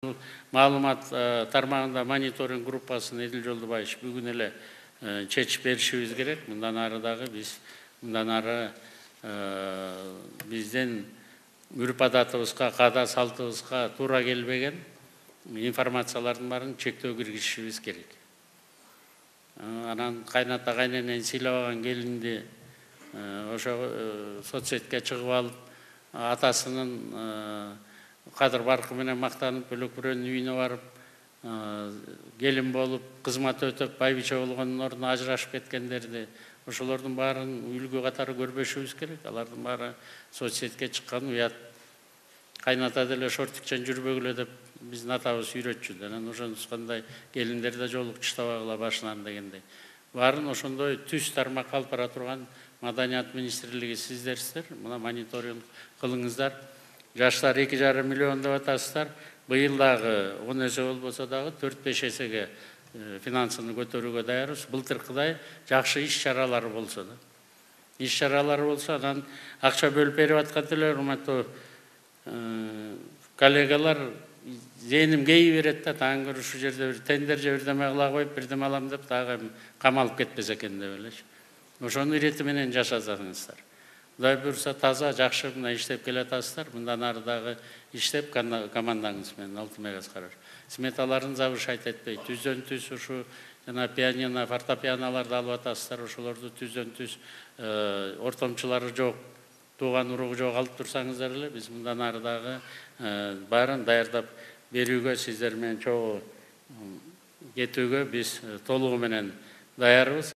Маалымат тармагында мониторинг группасын Эдил Жолдубаевич бүгүн эле чечип беришибиз керек. Мындан ары дагы биздин үрп адатыбызга, каада салтыбызга туура келбеген информациялардын баарын чектөө киргизишибиз керек. Анан кайната кайненен сыйлабаган келинди ошо соцсетке чыгып алып, атасынын кадыр баркы менен мактанып, бөлөк бирөөнүн үйүнө барып, келин болуп, кызмат өтөп, байбиче болгондун ордуна ажырашып кеткендерди, ошолордун баарын үлгү катары көрбөшүбүз керек. Алардын баары соцсетке чыккан уят. Кайната деле шортикчен жүрбөгүлө деп биздин атабыз үйрөтчү. Анан ошондой келиндер да жолуктуштабагыла башынан дегендей. Баарын ошондой түз тармакка алып бара турган Маданият министрлиги сиздерсиздер. Мына мониторинг кылыңыздар. Жаштар 2,5 миллион деп атасыздар. Быйыл дагы 10 эсе болбосо дагы 4-5 эсеге финансыны көтөрүүгө даярбыз. Былтыркыдай жакшы иш-чаралар болсо да. Иш-чаралар болсо, анан акча бөлүп берип аткан эле урматтуу коллегалар, зээним кейи берет да, таң көрү ушул жерде бир тендер же бирдеме кыла коюп, бирдеме алам деп дагы камалып кетпес экен деп элечи. Ошонун ирети менен жашасаңыздар. Кудай буюрса таза, жакшы мына иштеп келатасыздар. Мындан ары дагы иштеп командаңыз менен Алтын Мегас караш. Сметаларын завышать этпей, түздөн түз ушу жана пианино, фортепианолорду алып атасыздар. Ошолорду түздөн түз ортомчулары жок, тууган уругу жок алып турсаңыздар эле, биз мындан ары дагы баарын даярдап берүүгө, сиздер менен чогуу кетүүгө биз толугу менен даярбыз.